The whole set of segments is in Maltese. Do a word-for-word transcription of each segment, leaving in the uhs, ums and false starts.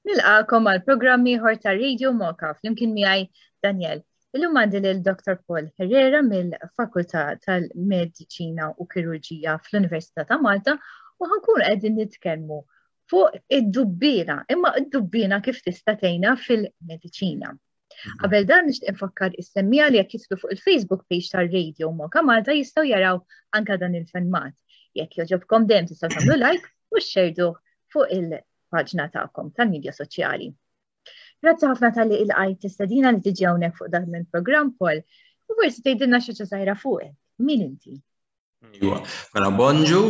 Nilqagħkom għal programm ieħor ta' Radio Moka flimkien miegħi Daniel. Illum għandi lil Dr. Paul Herrera mill-Fakultà tal-Mediċina u Kirurġija fl-Università ta' Malta u ħa nkunu qegħdin nitkellmu fuq id-dubbiena, imma id-dubbiena kif tista' tgħinna fil-mediċina. Mhm. Qabel dan nixtieq infakkar is-semmiegħa li jekk jidħlu fuq il-Facebook page tar-Radio Moka Malta jistgħu jaraw anka dan il-filmat. Jekk jogħġobkom dejjem tistgħu tagħmlu like u xxerduh fuq il- paġna tagħkom tal-midja soċjali. Grazzi ħafna talli lqajt l-istedina li tiġi hawnhekk fuq dan il-programm Paul. U forsi tgħidilna xi żgħira fuqek. Min inti? Iwa, mela bonġu,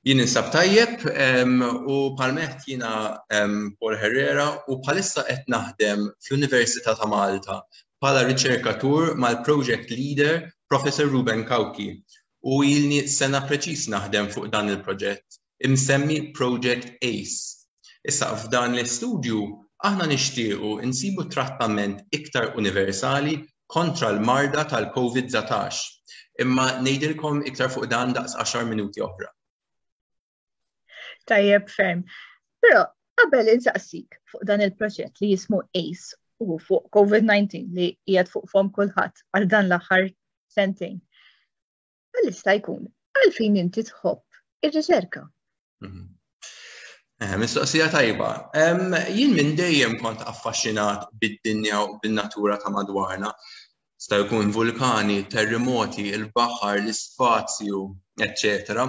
jien insab tajjeb u palmet jiena Paul Herrera u bħalissa qed naħdem fl-Università ta' Malta bħala riċerkatur mal-project leader Professor Ruben Cauchi u ilni sena preċis naħdem fuq dan il-proġett imsemmi Project ACE. Issa f'dan l-istudju aħna nixtiequ insibu trattament iktar universali kontra l-marda tal-Covid dsatax. Imma ngħidilkom iktar fuq dan daqs għaxar minuti oħra. Tajjeb ferm. Però qabel insaqsik fuq dan il-proġett li jismu ACE u fuq Covid disa li qiegħed fuq fomm kulħadd għal dan l-aħħar sentejn. Għal jista' jkun għalfejn inti tħobb ir-riċerka? Mhm. Eh, mistoqsija tajba. Jien minn dejjem kont affaxxinat bid-dinja u bin-natura ta' madwarna. Sta jkun vulkani, terremoti, il-baħar, l-ispazju, eċċetera.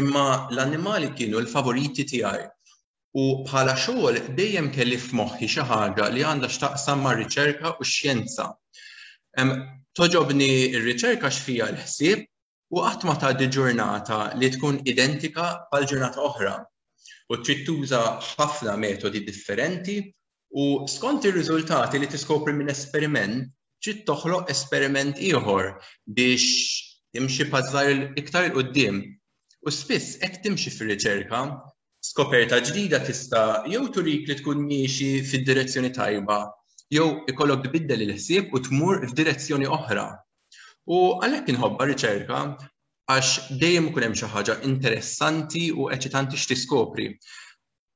Imma l-annimali kienu l-favoriti tiegħi. U bħala xogħol dejjem kelli f'moħħi xi ħaġa li għandha x'taqsam mar-riċerka u x-xjenza. Togħġobni r-riċerka x'fija l-ħsieb u qatt ma tgħaddi ġurnata li tkun identika bħal ġurnata oħra. U trid tuża ħafna metodi differenti u skont ir-riżultati li tiskopri minn esperiment, trid toħloq esperiment ieħor biex timxi pass żgħir iktar 'il quddiem. U spiss hekk timxi fir-riċerka, skoperta ġdida tista' jew turik li tkun miexi fid-direzzjoni tajba, jew ikollok tbiddel il-ħsieb u tmur f'direzzjoni oħra. U għalhekk inħobbha riċerka għax dejjem ikun hemm xi ħaġa interessanti u eċitanti x'tiskopri.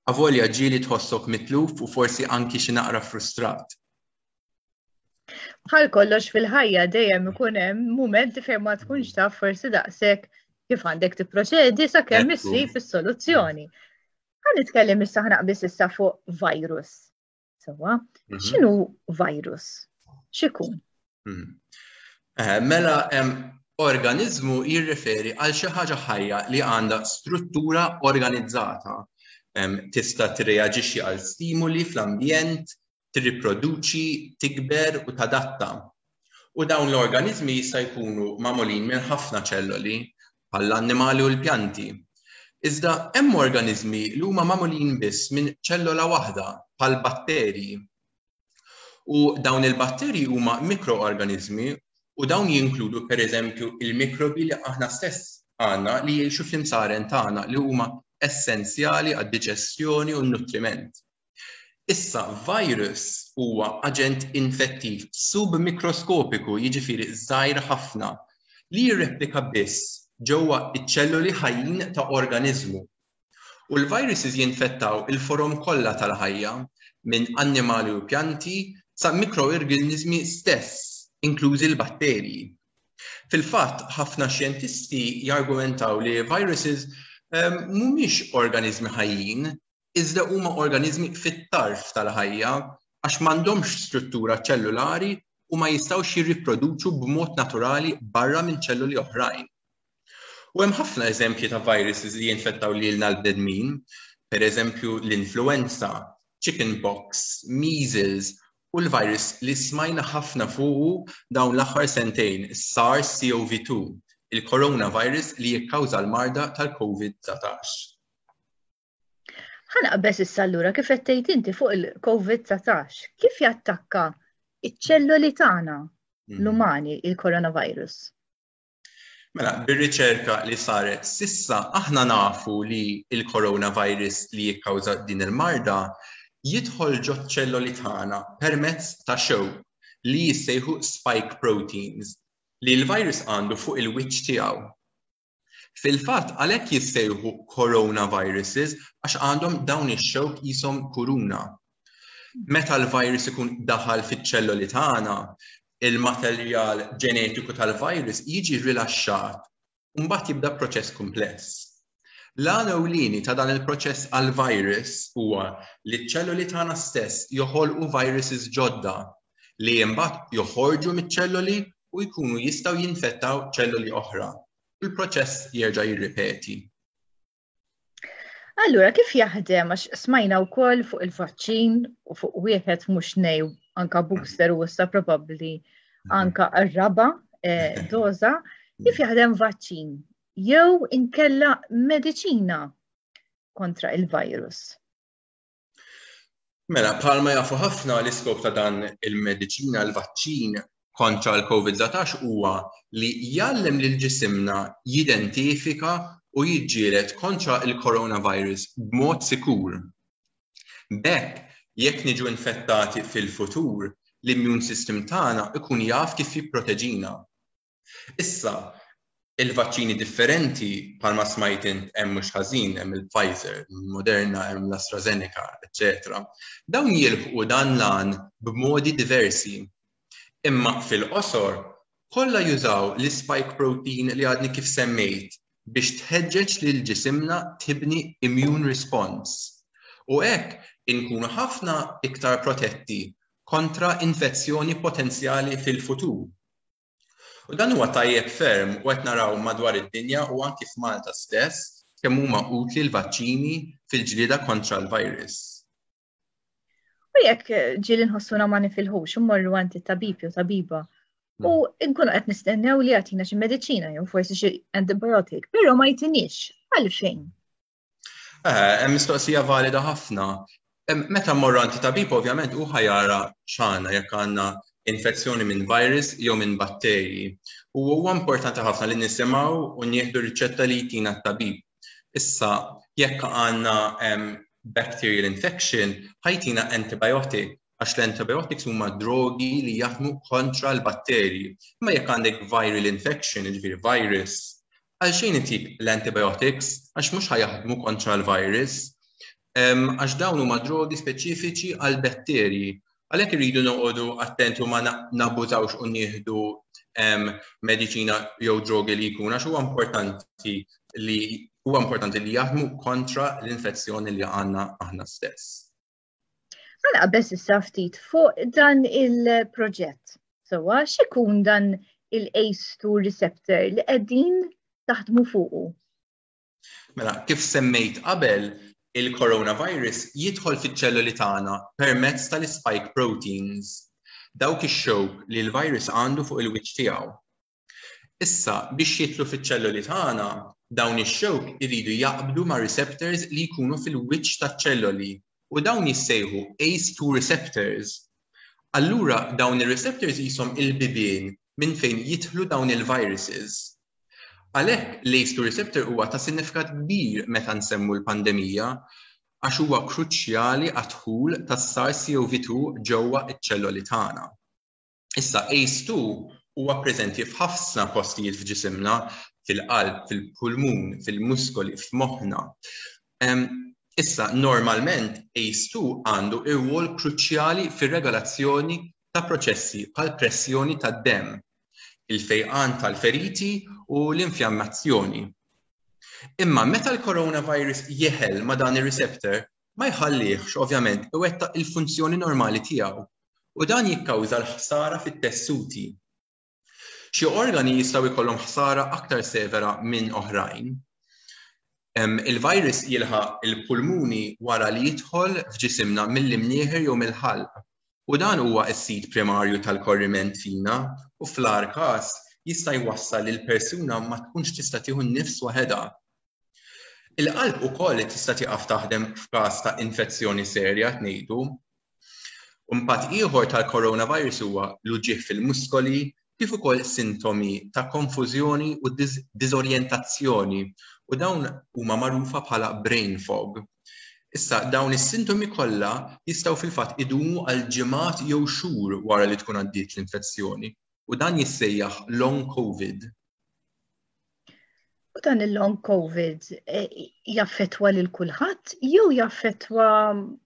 Avolja ġieli tħossok mitluf u forsi anki xi naqra frustrat. Bħal kollox fil-ħajja dejjem ikun hemm mumenti fejn ma tkunx taf forsi daqshekk kif għandek tipproċedi sakemm issib is-soluzzjoni. Ħa nitkellem issa ħa naqbeż issa fuq virus. Sewwa, mhm. x'inhu virus? X'ikun? Mhm. Eh, mela, organizmu jirreferi għal xi ħaġa ħajja li għandha struttura organizzata. Tista' tirreaġixxi għal stimuli fl-ambjent, tirriproduċi, tikber u tadatta. U dawn l-organizmi jista' jkunu magħmulin minn ħafna ċelloli, bħall-annimali u l-pjanti. Iżda hemm organizmi li huma magħmulin biss minn ċellola waħda, bħal batterji. U dawn il-batterji huma mikroorganizmi u dawn jinkludu pereżempju il-mikrobi li aħna stess għandna li jgħixu fl-imsaren tagħna li huma essenzjali għad-diġestjoni u n-nutriment. Issa, virus huwa aġent infettiv submikroskopiku, jiġifieri żgħir ħafna, li jirreplika biss ġewwa iċ-ċelluli ħajjin ta' organizmu. U l-viruses jinfettaw il-forom kollha tal-ħajja, minn annimali u pjanti sa mikroorganizmi stess, inklużi l-batterji. Fil-fatt, ħafna xjentisti jargumentaw li viruses ehm, mhumiex organizmi ħajjin, iżda huma organizmi fit-tarf tal-ħajja għax m'għandhomx struttura ċellulari u ma jistgħux jirriproduċu b'mod naturali barra minn ċelluli oħrajn. U hemm ħafna eżempji ta' viruses li jinfettaw lilna l-bnedmin, per eżempju l-influenza, chickenpox, measles u l-virus li smajna ħafna fuqu dawn l-aħħar sentejn, SARS-C o V two, il-coronavirus li jikkawża l-marda tal-Covid dsatax. Ħa naqbeż issa allura kif qed tgħid inti fuq il-Covid dsatax, kif jattakka iċ-ċelloli tagħna Mhm. l-umani il-coronavirus? Mela, bir-riċerka li saret sissa aħna nafu li il-coronavirus li jikkawża din il-marda jidħol ġo ċelloli tagħna permezz ta' xewk li jissejħu spike proteins li l-virus għandu fuq il-wiċċ tiegħu. Fil-fatt, għalhekk jissejħu coronaviruses, għax għandhom dawn ix-xewk qishom kuruna. Meta l-virus ikun daħal fiċ-ċelloli tagħna, il-materjal ġenetiku tal-virus jiġi rilaxxat u mbagħad jibda proċess kumpless. L-għan ewlieni ta' dan il-proċess għal-virus huwa li ċ-ċelloli tagħna stess joħolqu viruses ġodda li mbagħad joħorġu miċ-ċelloli u jkunu jistgħu jinfettaw ċelloli oħra. Il-proċess jerġa' jirripeti. Allura, kif jaħdem, għax smajna wkoll fuq il-vaċċin u fuq wieħed, mhux nej, anka booster u issa probabbli anka r-raba eh, doża, kif jaħdem vaċċin jew inkella mediċina kontra il-virus? Mela, bħalma jafu ħafna, l-iskop ta' dan il-mediċina, l-vaċċin kontra l-Covid dsatax huwa li jgħallem lil ġisimna jidentifika u jiġġieled kontra il-coronavirus b'mod sikur. B'hekk, jekk niġu infettati fil-futur, l-immune system tagħna ikun jaf kif jipproteġina. Issa, il-vaċċini differenti, bħalma smajt int, hemm mhux ħażin, hemm il-Pfizer, Moderna, hemm l-AstraZeneca, eċċetera. Dawn jilħqu dan l-għan b'modi diversi. Imma fil-qosor, kollha jużaw l-spike protein li għadni kif semmejt biex tħeġġeġ lil ġisimna tibni immune response. U hekk inkunu ħafna iktar protetti kontra infezzjoni potenzjali fil-futur. U dan huwa tajjeb ferm u qed naraw madwar id-dinja u anki f'Malta stess kemm huma utli l-vaċċini fil-ġlieda kontra l-virus. U jekk ġieli nħossuna ma nifilħux, immorru għand it-tabib jew tabiba u nkunu qed nistennew li jagħtina xi mediċina jew forsi xi antibiotic, però ma jtinix, għalfejn? Eh, hemm mistoqsija valida ħafna. Meta mmorru għand tabib, ovvjament hu ħa jara x'għandna, jekk għandna infezzjoni minn virus jew minn batterji. U huwa importanti ħafna li nisimgħu u nieħdu riċetta li jtina t-tabib. Issa, jekk għandna bacterial infection, ħa jtina antibiotic, għax l-antibiotics huma drogi li jaħdmu kontra l-batterji. Imma jekk għandek viral infection, jiġifieri virus, għalxejn itik l-antibiotics, għax mhux ħa jaħdmu kontra l-virus, għax dawn huma drogi speċifiċi għal batterji. Għalhekk irridu noqogħdu attenti u ma nabbużawx u nieħdu mediċina jew drogi li jkun, għax huwa importanti li huwa importanti li jaħdmu kontra l-infezzjoni li għandna aħna stess. Ħa naqbeż issa ftit fuq dan il-proġett. Sewwa, x'ikun dan il-A C E two receptor li qegħdin taħdmu fuqu? Mela, kif semmejt qabel, il-coronavirus jidħol fiċ-ċelluli tagħna permezz tal-spike proteins, dawk ix-xewk li l-virus għandu fuq il-wiċċ tiegħu. Issa, biex jidħlu fiċ-ċelluli tagħna, dawn ix-xewk iridu jaqbdu ma' receptors li jkunu fil-wiċċ taċ-ċelluli u dawn jissejħu A C E two receptors. Allura dawn ir-receptors qishom il-bibien minn fejn jidħlu dawn il-viruses. Għalhekk l-A C E two receptor huwa ta' sinifikat kbir meta nsemmu l-pandemija, għax huwa kruċjali għad-dħul tas-SARS-C o V two ġewwa iċ-ċelloli tagħna. Issa, A C E two huwa preżenti f'ħafna postijiet f'ġisimna, fil-qalb, fil-pulmun, fil-muskoli, f'moħħna. Issa, normalment A C E two għandu rwol kruċjali fir-regolazzjoni ta' proċessi bħal pressjoni tad-demm, il-fejqan tal-feriti u l-infjammazzjoni. Imma meta l-coronavirus jeħel ma' dan ir-receptor, ma jħallihx ovvjament iwettaq il-funzjoni normali tiegħu u dan jikkawża l-ħsara fit-tessuti. Xi organi jistgħu jkollhom ħsara aktar severa minn oħrajn. Il-virus jilħaq il-pulmuni wara li jidħol f'ġisimna mill-imnieħer jew mill-ħalq. U dan huwa s-sit primarju tal-korriment fina u fl-agħar każ jista' jwassal li l-persuna ma tkunx tista' tieħu n-nifs waħedha. Il-qalb ukoll tista' tieqaf taħdem f'każ ta' infezzjoni serja, ngħidu. Impatt ieħor tal-coronavirus huwa l-uġigħ fil-muskoli, kif ukoll sintomi ta' konfużjoni u diżorjentazzjoni, u dawn huma magħrufa bħala brain fog. Issa, dawn is-sintomi kollha jistgħu fil-fatt idumu għal ġimgħat jew xhur wara li tkun għaddiet l-infezzjoni u dan jissejjaħ long COVID. U dan il-long COVID eh, jaffettwa lil kulħadd jew jaffettwa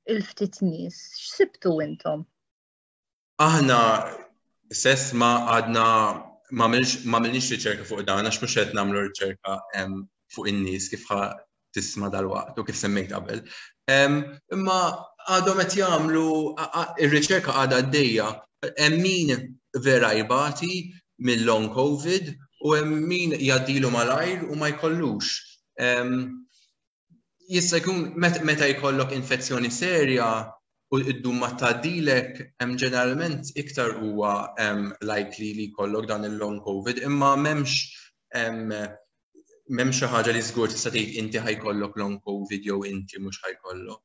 il-ftit nies? X'sibtu intom? Aħna s'issa ma għadna ma għamilniex riċerka fuq dan, għax mhux qed nagħmlu riċerka fuq in-nies, kif tisma' dal-waqt u kif semmejt qabel. Imma għadhom qed jagħmlu ir-riċerka, għadha għaddejja. Hemm min vera jbati mill-long COVID u hemm min jgħaddilu malajr u ma jkollux. Jista' jkun meta jkollok infezzjoni serja u ddum ma tgħaddilek, hemm ġeneralment iktar huwa likely li jkollok dan il-long COVID, imma m'hemmx m'hemmx xi ħaġa li żgur tista' tgħid inti ħa jkollok long COVID jew inti mhux ħa jkollok.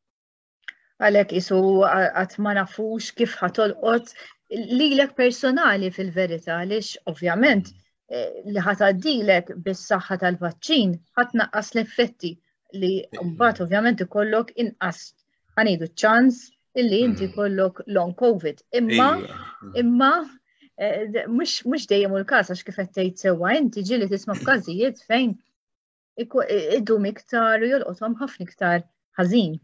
Għalhekk issa għad ma nafux kif ħa tolqot lilek personali fil-verità, għaliex ovvjament eh, li ħa tgħaddilek bis-saħħa tal-vaċċin ħa tnaqqas l-effetti li mbagħad ovvjament ikollok inqas, ħa ngħidu, ċans illi inti mm. kollok long COVID. Imma imma eh, mhux dejjem il-każ, għax kif qed tgħid sewwa inti, ġieli tisma' f'każijiet fejn idum iktar u jolqothom ħafna iktar ħażin.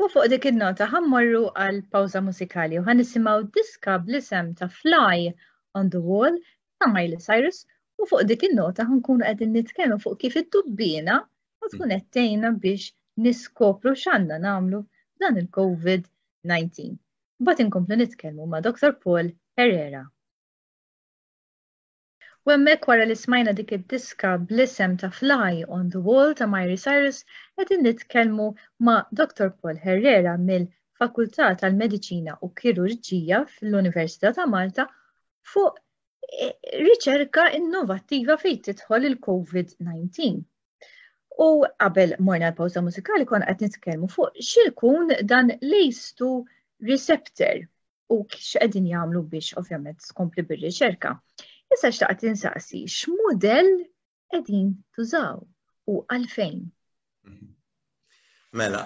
U fuq dik il-nota ħa mmorru għal pawża mużikali u ħa nisimgħu diska bl-isem ta' Fly on the Wall ta' Miley Cyrus, u fuq dik il-nota ħa nkunu qegħdin nitkellmu fuq kif id-dubbina u tkun qed tgħinna biex niskopru x'għandna nagħmlu dan il-COVID nineteen. Mbagħad inkomplu nitkellmu ma' Doctor Paul Herrera. U hemmhekk, wara li smajna dik id-diska bl-isem ta' Fly on the Wall ta' Miley Cyrus, qegħdin nitkellmu ma' Doctor Paul Herrera mill-Fakultà tal-Mediċina u Kirurġija fl-Università ta' Malta fuq eh, riċerka innovattiva fejn tidħol il-COVID nineteen. U qabel morna l-pawza mużikali konna qed nitkellmu fuq x'ikun dan l-A C E two receptor u x'qegħdin jagħmlu biex ovvjament tkompli bir-riċerka. Issa xtaqt insaqsi x'mudell qegħdin tużaw u għalfejn? Mela,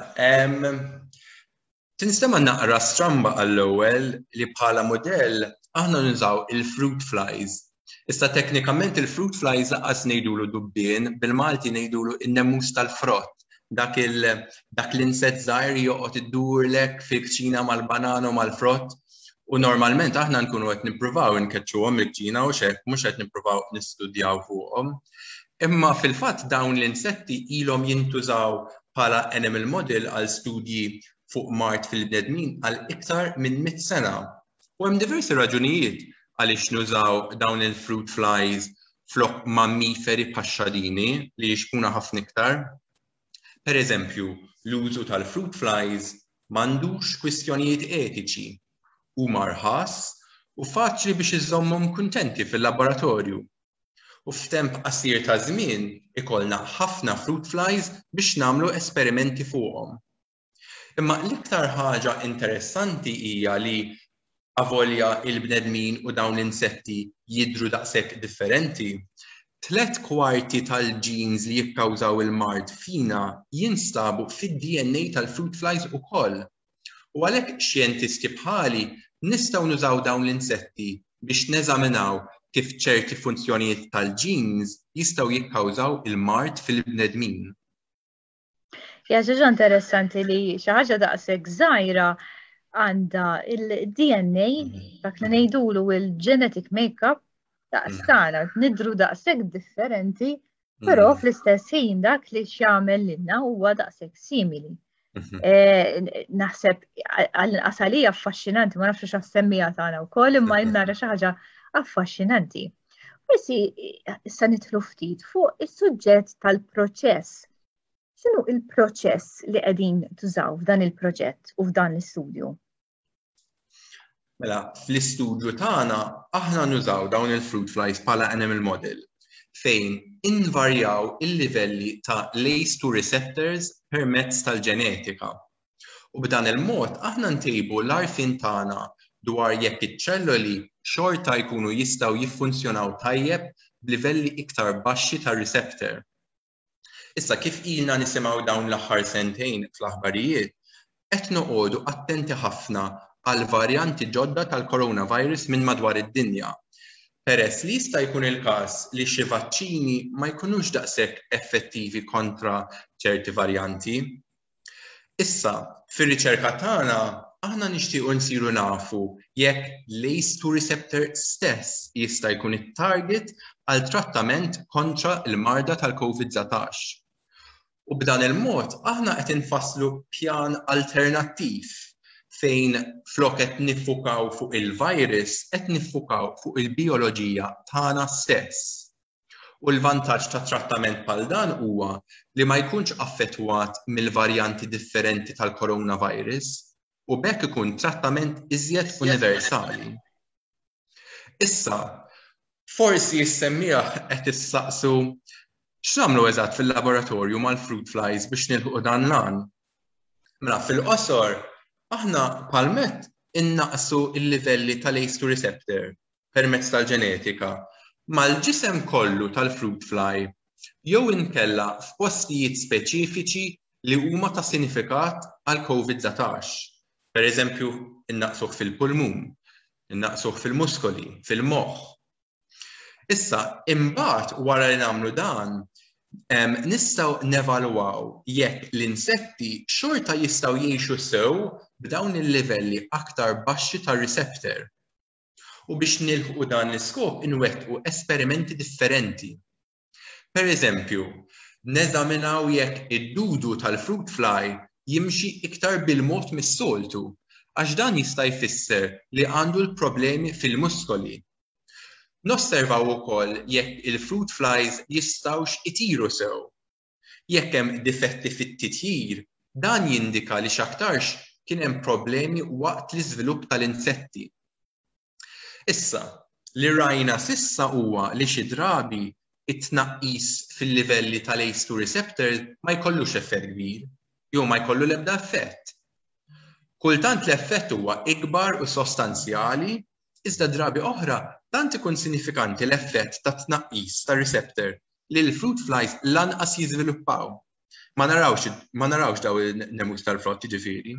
tinstema naqra stramba għall-ewwel li bħala modell aħna nużaw il-fruit flies. Issa teknikament il-fruit flies lanqas ngħidulu dubbien, bil-Malti ngħidulu in-nemus tal-frott. Dak l-inset żgħir joqgħod iddurlek fil-kċina mal-banana u mal-frott. U normalment aħna nkunu qed nippruvaw nkeċċuhom il-kċina u xek, mhux qed nippruvaw nistudjaw fuqhom. Imma fil-fatt dawn l-insetti ilhom jintużaw bħala animal model għal studji fuq mard fil-bnedmin għal iktar minn mitt sena. U hemm diversi raġunijiet għaliex nużaw dawn il-fruit flies flok mammiferi bħax-xadini li jixbhuna ħafna iktar. Per eżempju, l-użu tal-fruit flies m'għandux kwistjonijiet etiċi, huma rħas u faċli biex iżommhom kuntenti fil-laboratorju. U f'temp qasir ta' żmien ikollna ħafna fruit flies biex nagħmlu esperimenti fuqhom. Imma l-iktar ħaġa interessanti hija li avolja il-bnedmin u dawn l-insetti jidru daqshekk differenti, tlet kwarti tal-genes li jikkawżaw il-mard fina jinstabu fid-D N A tal-fruit flies ukoll. U għalhekk xjentisti bħali nistgħu nużaw dawn l-insetti biex neżaminaw kif ċerti funzjonijiet tal-genes jistgħu jikkawżaw il-mard fil-bnedmin. Ja, ħaġa interessanti li xi ħaġa daqshekk żgħira għandha il-D N A, dak li ngħidulu il-genetic makeup daqs tagħna, nidru daqshekk differenti, però mm. fl-istess ħin dak li x'jagħmel lilna huwa daqshekk simili. Mhm. Eh, naħseb għall-inqas għalija affaxxinanti, ma nafx x'għas-semmiegħa tagħna wkoll, imma nara xi ħaġa affaxxinanti. Forsi issa nidħlu ftit fuq is-suġġett tal-proċess. X'inhu il-proċess li qegħdin tużaw f'dan il-proġett u f'dan l-istudju? Mela, fl-istudju tagħna aħna nużaw dawn il-fruit flies bħala animal model fejn invarjaw il-livelli ta' l-A C E two receptors permezz tal-ġenetika. U b'dan il-mod aħna ntejbu l-għarfien tagħna dwar jekk iċ-ċelloli xorta jkunu jistgħu jiffunzjonaw tajjeb b'livelli iktar baxxi tar-receptor. Issa, kif ilna nisimgħu dawn l-aħħar sentejn fl-aħbarijiet, qed noqogħdu attenti ħafna għal varjanti ġodda tal-coronavirus minn madwar id-dinja. Peress li jista' jkun il-każ li xi vaċċini ma jkunux daqshekk effettivi kontra ċerti varjanti. Issa, fir-riċerka tagħna aħna nixtiequ nsiru nafu jekk l-A C E two receptor stess jista' jkun it-target għal trattament kontra l-marda tal-COVID dsatax. U b'dan il-mod aħna qed infasslu pjan alternattiv fejn flok qed niffukaw fuq il-virus, qed niffukaw fuq il-bioloġija tagħna stess. U l-vantaġġ ta' trattament bħal dan huwa li ma jkunx affettwat mill-varjanti differenti tal-coronavirus u b'hekk ikun trattament iżjed universali. Issa, forsi s-semmiegħa qed issaqsu x'nagħmlu eżatt fil-laboratorju mal-fruit flies biex nilħu dan l-għan. Mela fil-qosor, aħna palmet innaqsu il-livelli tal-A C E two receptor permezz tal-ġenetika mal-ġisem kollu tal-fruit fly jew inkella f'postijiet speċifiċi li huma ta' sinifikat għal COVID dsatax. Per eżempju, innaqsuh fil-pulmun, innaqsuh fil-muskoli, fil-moħħ. Issa, imbagħad wara li nagħmlu dan, nistgħu nevalwaw jekk l-insetti xorta jistgħu jgħixu sew b'dawn il-livelli aktar baxxi tar-receptor. U biex nilħqu dan l-iskop inwettqu esperimenti differenti. Per eżempju, neżaminaw jekk id-dudu tal-fruit fly jimxi iktar bil-mod mis-soltu, għax dan jista' jfisser li għandu l-problemi fil-muskoli. Nosservaw ukoll jekk il-fruit flies jistgħux itiru sew. Jekk hemm difetti fit-titjir, dan jindika li x'aktarx kien hemm problemi waqt l-iżvilupp tal-insetti. Issa, li rajna s'issa huwa li xi drabi it-tnaqqis fil-livelli tal-A C E two receptor ma jkollux effett kbir, jew ma jkollu l-ebda effett. Kultant l-effett huwa ikbar u sostanzjali, iżda drabi oħra tant ikun sinifikanti l-effett ta' tnaqqis ta' receptor li l-fruit flies lanqas jiżviluppaw. Ma narawx, ma narawx daw il-nemus tal-frott, ġifieri.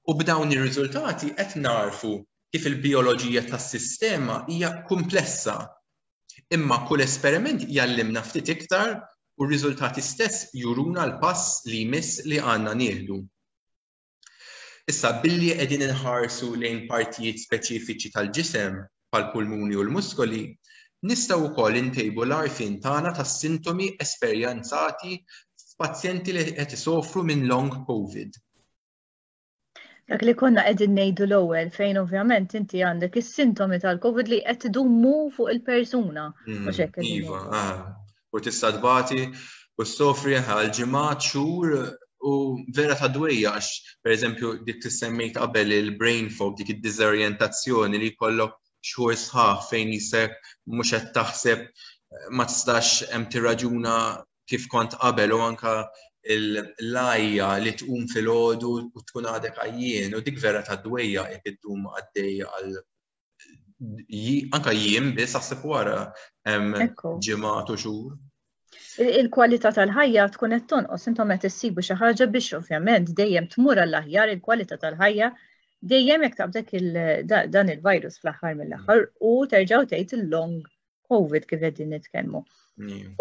U b'dawn ir-riżultati qed narfu kif il-bioloġija tas-sistema hija komplessa. Imma kull esperiment jgħallimna ftit iktar u r-riżultati stess juruna l-pass li jmiss li għandna nieħdu. Issa, billi qegħdin inħarsu lejn partijiet speċifiċi tal-ġisem, bħal pulmuni u l-muskoli, nistgħu wkoll intejbu l-għarfien tagħna tas-sintomi esperjenzati f'pazjenti li qed isofru minn long COVID. Dak li konna qegħdin ngħidu l-ewwel, fejn ovvjament inti għandek is-sintomi tal-COVID li qed idumu fuq il-persuna. Mm, iva, ah. U tista' tbati u ssofri għal ġimgħat, xhur, u vera ta' dwejja għax, per eżempju, dik li semmejt qabel, il-brain fog, dik id-dizorientazzjoni li jkollok xhur sħaħ fejn jisek mhux qed taħseb, ma tistax hemm tirraġuna kif kont qabel, u anka l-għajja li tqum filgħodu u tkun għadek għajjien, u dik vera ta' dwejja jekk iddum għaddej għal anka jiem biss, aħseb wara ġimgħat u xhur. Il-kwalità tal-ħajja tkun qed tonqos. Intom qed issibu xi ħaġa biex ovvjament dejjem tmur għall-aħjar il-kwalità tal-ħajja dejjem jekk taqbdek dan il-virus fl-aħħar mill-aħħar u terġgħu tgħid il-long COVID kif qegħdin nitkellmu.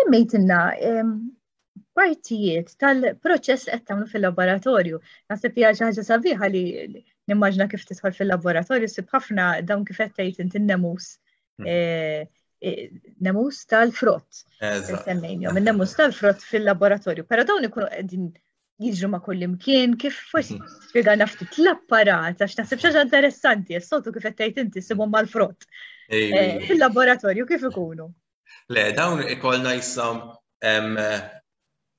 Semmejtilna partijiet tal-proċess li qed tagħmlu fil-laboratorju. Naħseb hija xi ħaġa sabiħa li nimmaġna kif tidħol fil-laboratorju ssib ħafna dawn, kif qed tgħid inti, nemus hmm. eh, eh, nemus tal-frott. Semmejnihom, il-nemus tal-frott fil-laboratorju. Però dawn ikunu qegħdin jiġru ma' kull imkien, kif forsi mhm. spjega ftit l-apparat, għax naħseb xi ħaġa interessanti, s-soltu kif qed tgħid inti ssibhom mal-frott. Eh, fil-laboratorju kif ikunu? Le, dawn ikollna jisom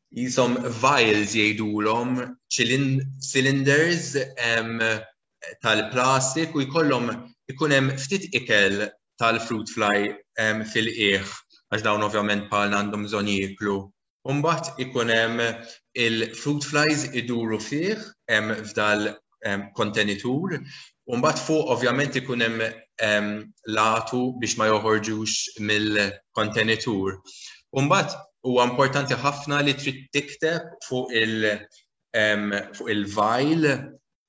jisom vials jgħidulhom, cylinders tal-plastik, u jkollhom ikun hemm ftit ikel tal-fruit fly fil-qiegħ, għax dawn ovvjament bħal għandhom bżonn jieklu. Mbagħad ikun hemm il-fruit flies iduru fih f'dal kontenitur, u mbagħad fuq ovvjament ikun hemm l-għatu biex ma joħorġux mill-kontenitur. U mbagħad huwa importanti ħafna li trid tikteb fuq il- fuq il-vial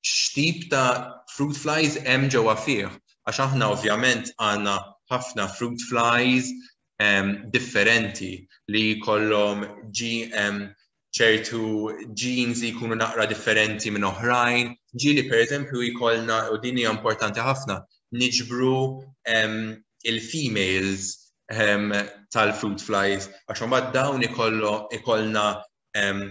x'tip ta' fruit flies hemm ġewwa fih. Għax aħna ovvjament għandna ħafna fruit flies um, differenti li jkollhom um, ċertu genes li jkunu naqra differenti minn oħrajn. Ġieli, per eżempju, jkollna, u din hija importanti ħafna, niġbru um, il-females um, tal-fruit flies, għax mbagħad dawn ikollna um,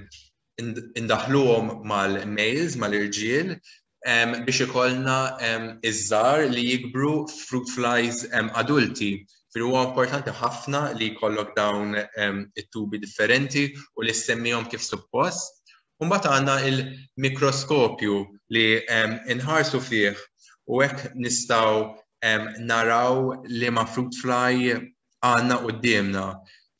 indaħluhom mal-males, mal-irġiel, um, biex ikollna um, iż-żgħar li jikbru fruit flies um, adulti. Fil huwa importanti ħafna li jkollok dawn um, it-tubi differenti u li semmihom kif suppost. Mbagħad għandna il-mikroskopju li um, inħarsu fih u hekk nistgħu um, naraw li ma fruit fly għandna quddiemna.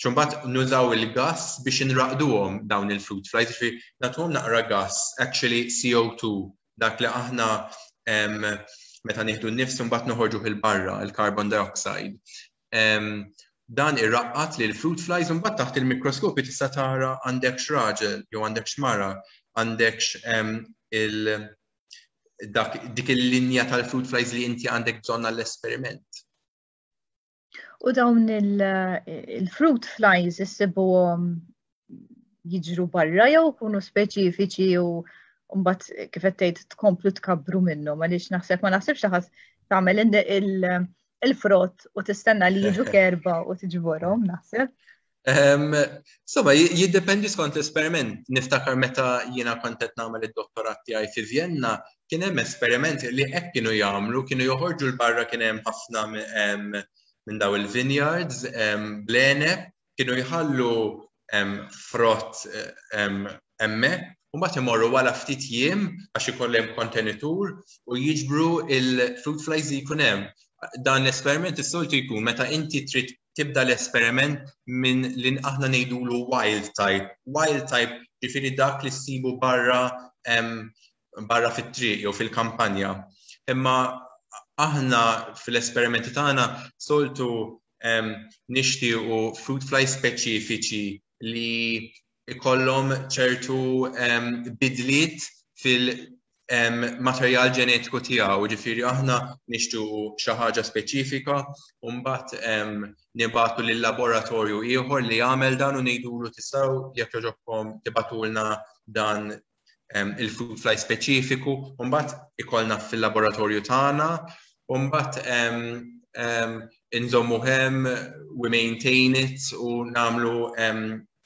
Mbagħad nużaw il-gas biex nraqduhom dawn il-fruit flies, ġifieri nagħtuhom naqra gas, actually C O two, dak li aħna um, meta nieħdu n-nifs mbagħad noħorġu 'il barra, il-carbon dioxide. Um, dan irraqqat li l-fruit flies, mbagħad taħt il-mikroskopi tista' tara għandek raġel jew għandek mara, għandek um, il dak, dik il-linja tal-fruit flies li inti għandek bżonn għall-esperiment. U dawn il-fruit flies issibuhom jiġru barra jew kunu speċifiċi u mbagħad, kif qed tgħid, tkomplu tkabbru minnhom? Għaliex naħseb ma naħsibx ħadd tagħmel il-frott u tistenna li jiġu kerba u tiġborhom, naħseb. Insomma, jiddependi skont l-esperiment. Niftakar meta jiena kont qed nagħmel id-dottorat tiegħi fi Vienna, kien hemm esperimenti li hekk kienu jagħmlu, kienu joħorġu 'l barra, kien hemm ħafna minn daw il-vineyards bl-għeneb, kienu jħallu frott hemmhekk u mbagħad imorru wara ftit jiem, għax ikollhom kontenitur, u jiġbru il-fruit flies li jkun hemm. Dan l-esperiment is-soltu jkun meta inti trid tibda l-esperiment minn li aħna ngħidulu wild type. Wild type ġifieri dak li ssibu barra barra fit-triq jew fil-kampanja. Imma aħna fil-esperimenti tagħna soltu nixtiequ fruit fly speċifiċi li ikollhom ċertu bidliet fil-materjal ġenetiku tiegħu, ġifieri aħna nixtiequ xi ħaġa speċifika u mbagħad nibagħtu lil laboratorju ieħor li jagħmel dan u ngħidulu: "Tistgħu, jekk jogħġobkom, tibagħtulna dan il-fruit fly speċifiku?" U mbagħad ikollna fil-laboratorju tagħna u mbagħad inżommu hemm, we maintain it u nagħmlu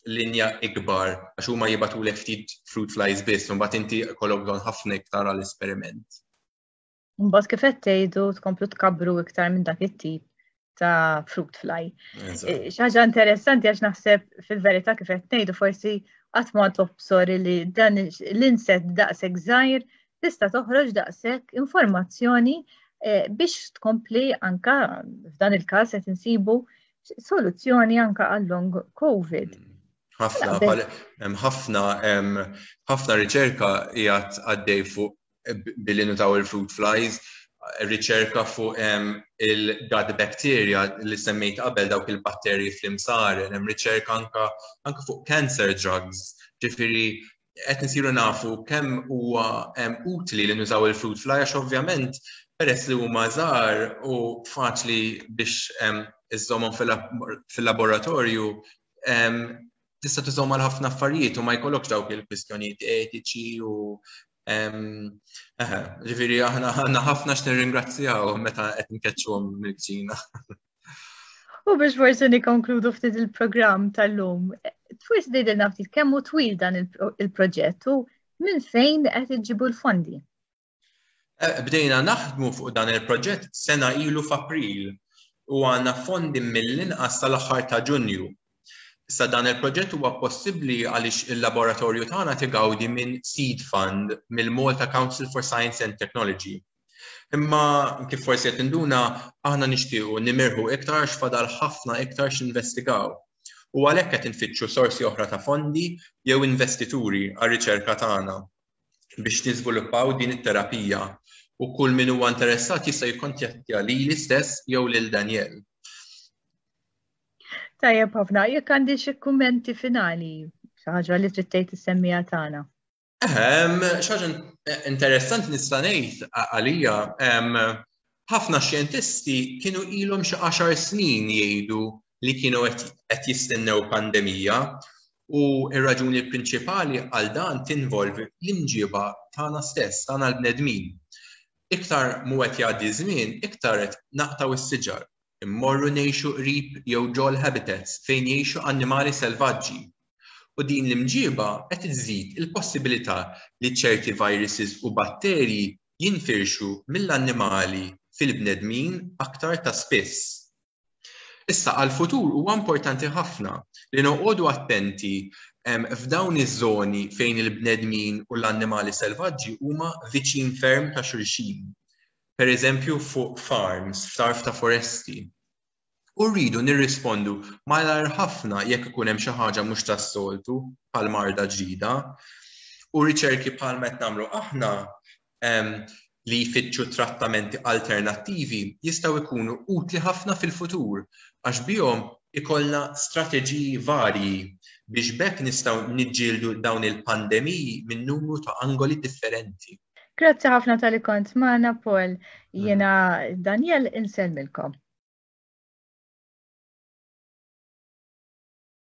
linja ikbar, għax huma jibagħtulek ftit fruit flies biss, u mbagħad inti jkollok bżonn ħafna iktar għall-esperiment. Mbagħad, kif qed tgħidu, tkomplu tkabbru iktar minn dak it-tip ta' fruit fly. E, xi ħaġa interessanti, għax naħseb fil-verità, kif qed ngħidu, forsi qatt ma tobsor li dan l-insett daqshekk żgħir tista' toħroġ daqshekk informazzjoni e, biex tkompli anka f'dan il-każ qed insibu soluzzjoni anka għal long COVID. Mm. Ħafna, hemm ħafna ħafna riċerka qiegħed għaddej fuq billi nużaw il-fruit flies, riċerka fuq il-gut bacteria li semmejt qabel, dawk il-batterji fl-imsaren, hemm riċerka anka anka fuq cancer drugs, ġifieri qed nsiru nafu kemm huwa utli li nużaw il-fruit fly, għax ovvjament peress li huma żgħar u faċli biex iżżommhom fil-laboratorju, tista' tużhom għal ħafna affarijiet u ma jkollokx dawk il-kwistjonijiet etiċi u ġifieri aħna għandna ħafna x'nirringrazzjaw meta qed nkeċċuhom mill-kċina. U biex forsi nikkonkludu ftit il-programm tal-lum, forsi tgħidilna ftit kemm hu twil dan il-proġett u minn fejn qed iġibu l-fondi? Eh, bdejna naħdmu fuq dan il-proġett sena ilu f'April u għandna fondi mill-inqas tal-aħħar ta' Ġunju. Issa, dan il-proġett huwa possibbli għaliex il-laboratorju tagħna tigawdi minn seed fund mill-Malta Council for Science and Technology. Imma kif forsi qed tinduna, aħna nixtiequ nimirħu iktar, x'fadal ħafna iktar x'investigaw. U għalhekk qed infittxu sorsi oħra ta' fondi jew investituri għar-riċerka tagħna biex niżviluppaw din it-terapija, u kull min huwa interessat jista' jikkontattja lili stess jew lil Daniel. Tajjeb ħafna, jekk għandi xi kummenti finali, xi ħaġa li trid tgħid is-semmiegħa tagħna. Ehm, xi ħaġa interessanti nista' ngħid għalija Ħafna xjentisti kienu ilhom xi għaxar snin jgħidu li kienu qed jistennew pandemija, u r-raġuni prinċipali għal dan tinvolvi l-imġiba tagħna stess, tagħna l-bnedmin. Iktar mu qed jgħaddi żmien, iktar qed naqtgħu s-siġar, immorru ngħixu qrib jew ġol habitats fejn jgħixu annimali selvaġġi. U din l-imġiba qed iżżid il-possibilità li ċerti viruses u batterji jinfirxu mill-annimali fil-bnedmin aktar ta' spiss. Issa, għal-futur huwa importanti ħafna li noqogħdu attenti f'dawn iż-żoni fejn il-bnedmin u l-annimali selvaġġi huma viċin ferm ta' xulxin. Per eżempju, fuq farms, f'tarf ta' foresti. U rridu nirrispondu malajr ħafna jekk ikun hemm xi ħaġa mhux tas-soltu, bħal marda ġdida. U riċerki bħal qed nagħmlu aħna li jfittxu trattamenti alternattivi jistgħu jkunu utli ħafna fil-futur, għax bihom ikollna strateġiji varji biex b'hekk nistgħu niġġieldu dawn il-pandemiji minn numru ta' angoli differenti. Grazzi ħafna talli kont magħna, Paul. Jiena Daniel, insellmilkom.